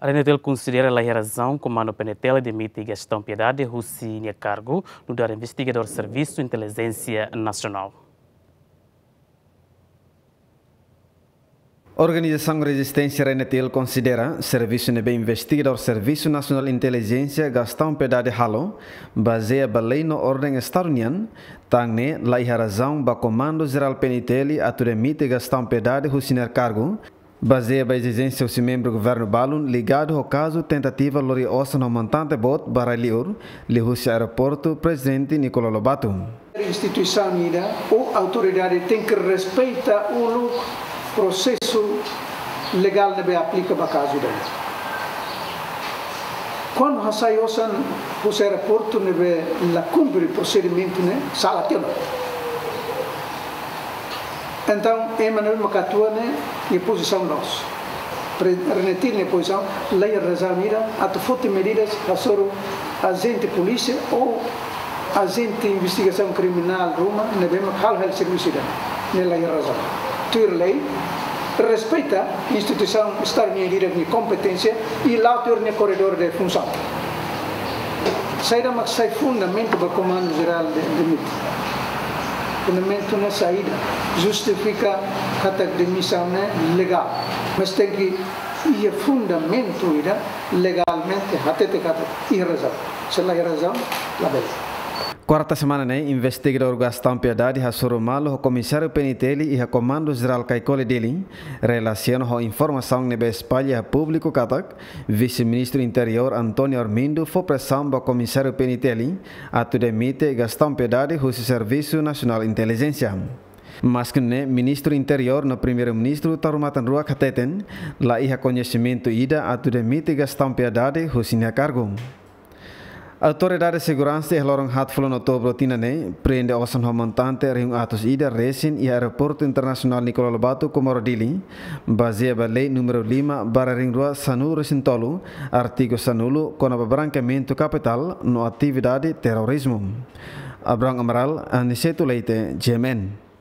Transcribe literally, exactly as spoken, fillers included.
RNTL konsidera la iha razaun Komandu PNTL demite Gastão Piedade husi nia kargu, nu'udar investigadór Servisu Intelijénsia Nasionál. Organizasaun Rezisténsia RNTL konsidera servisu ne'ebé investigadór Servisu Nasionál Intelijénsia Gastão Piedade halo, bazeia ba lei no orden Estadu nian, tan ne'e la iha razaun ba Komandu Jerál PNTL atu demite Gastão Piedade husi nia kargu, bazeia ba ezijénsia husi membru governu balun ligadu ho kazu tentativa lori osan ho montante boot ba rai-li'ur, liuhusi aeroportu Prezidente Nicolau Lobato. Instituisaun ida ou autoridade tenke respeita uluk prosesu legál ne'ebé aplika ba kazu ida. Kuandu hasai osan husi aeroportu ne'ebé la kumpre prosedimentu ne'e, sala tiha ona. Entaun, ema ne'ebé mak atua ne'e, nia pozisaun loos. Pre-, RNTL nia pozisaun, la iha razaun ida atu foti medidas hasoru ajente polísia ou ajente investigasaun kriminál ruma ne'ebé mak halo hela servisu ida. Ne'e la iha razaun. Tuir lei, respeita instituisaun Estadu nian ida nia kompeténsia i la'o tuir nia koridór de funsaun. Saida mak sai fundamentu ba Komandu Jerál de, demite? Fundamentu ne'e saida? Justifika katak demisaun ne'e legál. Mas tenke iha fundamentu ida legalmente hatete katak iha razaun. Se la iha razaun, labele. Kuarta semana ne'e, investigadór Gastão Piedade hasoru malu ho Komisáriu PNTL iha Komandu Jerál Caicoli Dili, relasiona ho informasaun ne'ebé espalla iha públiku katak Vise-Ministru Interiór António Armindo fó presaun ba Komisáriu PNTL atu demite Gastão Piedade husi Servisu Nasionál Intelijénsia. Maski ne'e, Ministru Interiór no Primeiru-Ministru Taur Matan Ruak hateten, la iha koñesimentu ida atu demite Gastão Piedade husi nia kargu. Autoridade Seguransa iha loron haatfulu Outubru tinan ne'e prende osan ho montante rihun atus ida resin iha Aeroportu Internasionál Nicolau Lobato Comoro Dili, bazeia ba lei númeru lima barra rihun rua sanulu resin tolu, artigu sanulu, kona-ba brankeamentu kapitál no atividade terrorizmu. Abrão Amaral, Aniceto Leite, GMN.